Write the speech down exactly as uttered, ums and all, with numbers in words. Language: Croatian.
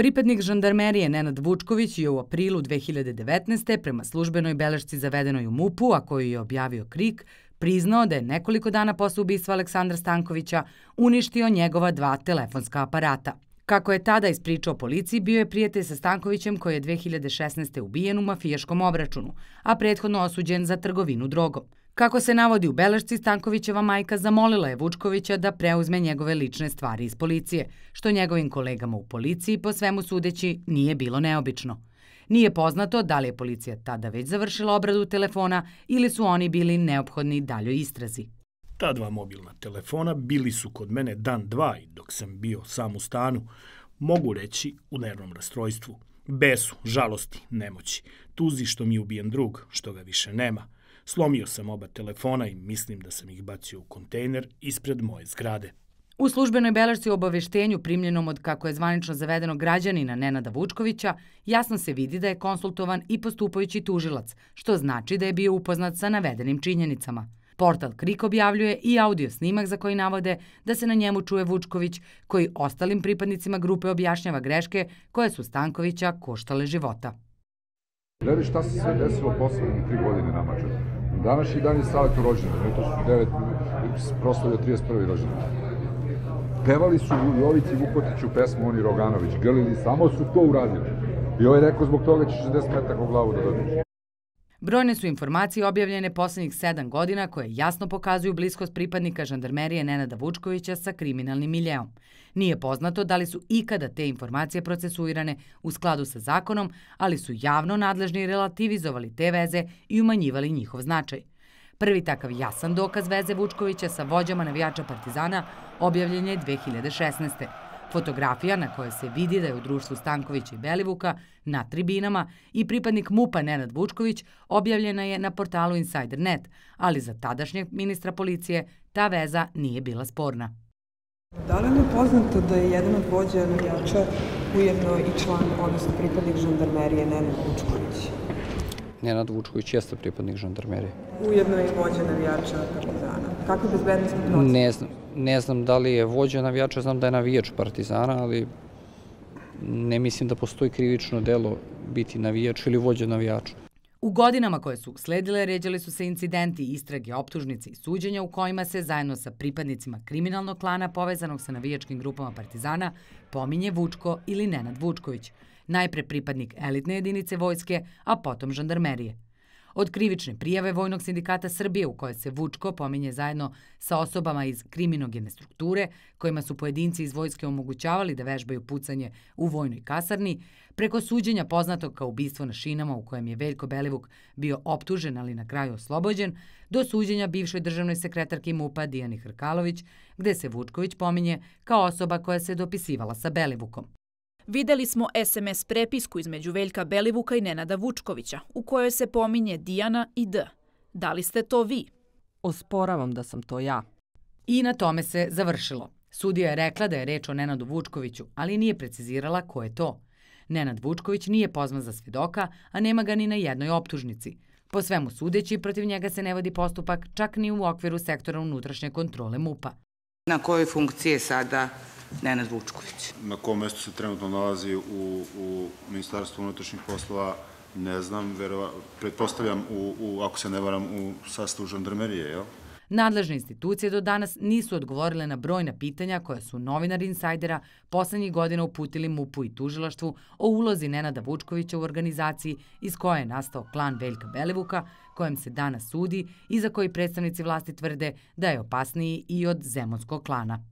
Pripadnik žandarmerije Nenad Vučković je u aprilu dve hiljade devetnaeste. prema službenoj belešci zavedenoj u MUP-u, a koju je objavio KRIK, priznao da je nekoliko dana posle ubistva Aleksandra Stankovića uništio njegova dva telefonska aparata. Kako je tada ispričao policiji, bio je prijatelj sa Stankovićem koji je dve hiljade šesnaeste. ubijen u mafijaškom obračunu, a prethodno osuđen za trgovinu drogom. Kako se navodi u belešci, Stankovićeva majka zamolila je Vučkovića da preuzme njegove lične stvari iz policije, što njegovim kolegama u policiji, po svemu sudeći, nije bilo neobično. Nije poznato da li je policija tada već završila obradu telefona ili su oni bili neophodni daljoj istrazi. Ta dva mobilna telefona bili su kod mene dan dva i dok sam bio sam u stanu, mogu reći u nervnom rastrojstvu, besu, žalosti, nemoći, tuzi što mi je ubijen drug, što ga više nema. Slomio sam oba telefona i mislim da sam ih bacio u kontejner ispred moje zgrade. U službenoj belešci o obaveštenju primljenom od, kako je zvanično zavedenog, građanina Nenada Vučkovića, jasno se vidi da je konsultovan i postupajući tužilac, što znači da je bio upoznat sa navedenim činjenicama. Portal KRIK objavljuje i audio snimak za koji navode da se na njemu čuje Vučković, koji ostalim pripadnicima grupe objašnjava greške koje su Stankovića koštale života. Gledaj šta se sve desilo poslednje tri godine na Mađaru. Današnji dan je Saletu rođendan, to su devet proslavio trideset prvi rođendan. Pevali su Jovici Vukotiću pesmu Oni Roganović, grlili, samo su to uradili. I ovaj rekao zbog toga će šezdeset metaka u glavu da dobiješ. Brojne su informacije objavljene poslednjih sedam godina koje jasno pokazuju bliskost pripadnika žandarmerije Nenada Vučkovića sa kriminalnim miljeom. Nije poznato da li su ikada te informacije procesuirane u skladu sa zakonom, ali su javno nadležni relativizovali te veze i umanjivali njihov značaj. Prvi takav jasan dokaz veze Vučkovića sa vođama navijača Partizana objavljen je dve hiljade šesnaeste. Fotografija na kojoj se vidi da je u društvu Stankovića i Belivuka na tribinama i pripadnik MUP-a Nenad Vučković objavljena je na portalu Insider tačka net, ali za tadašnjeg ministra policije ta veza nije bila sporna. Da li je poznato da je jedan od vođa navijača ujedno i član, odnosno pripadnik žandarmerije Nenad Vučković? Nenad Vučković jeste pripadnik žandarmerije. Ujedno je i vođa navijača Partizana. Kakve bezbednostne procene? Ne znam, ne znam da li je vođa navijača, znam da je navijač Partizana, ali ne mislim da postoji krivično delo biti navijač ili vođa navijača. U godinama koje su sledile ređali su se incidenti, istrage, optužnice i suđenja u kojima se zajedno sa pripadnicima kriminalnog klana povezanog sa navijačkim grupama Partizana pominje Vučko ili Nenad Vučković, najpre pripadnik elitne jedinice vojske, a potom žandarmerije. Od krivične prijave Vojnog sindikata Srbije u kojoj se Vučko pominje zajedno sa osobama iz kriminogene strukture, kojima su pojedinci iz vojske omogućavali da vežbaju pucanje u vojnoj kasarni, preko suđenja poznatog kao ubistvo na šinama u kojem je Veljko Belivuk bio optužen, ali na kraju oslobođen, do suđenja bivšoj državnoj sekretarki MUP-a Dijani Hrkalović, gde se Vučković pominje kao osoba koja se dopisivala sa Belivukom. Videli smo es em es prepisku između Veljka Belivuka i Nenada Vučkovića, u kojoj se pominje Dijana i D. Da li ste to vi? Osporavam da sam to ja. I na tome se završilo. Sudija je rekla da je reč o Nenadu Vučkoviću, ali nije precizirala ko je to. Nenad Vučković nije pozvan za svedoka, a nema ga ni na jednoj optužnici. Po svemu sudeći, protiv njega se ne vodi postupak čak ni u okviru sektora unutrašnje kontrole MUP-a. Na kojoj funkciji je sada Nenad Vučković? Na kom mestu se trenutno nalazi u, u Ministarstvu unutrašnjih poslova, ne znam, verova, pretpostavljam, u, u, ako se ne varam, u sastavu žandarmerije, jel? Nadležne institucije do danas nisu odgovorile na brojna pitanja koja su novinari Insajdera poslednjih godina uputili MUP-u i tužilaštvu o ulozi Nenada Vučkovića u organizaciji iz koje je nastao klan Veljka Belivuka, kojem se danas sudi i za koji predstavnici vlasti tvrde da je opasniji i od zemunskog klana.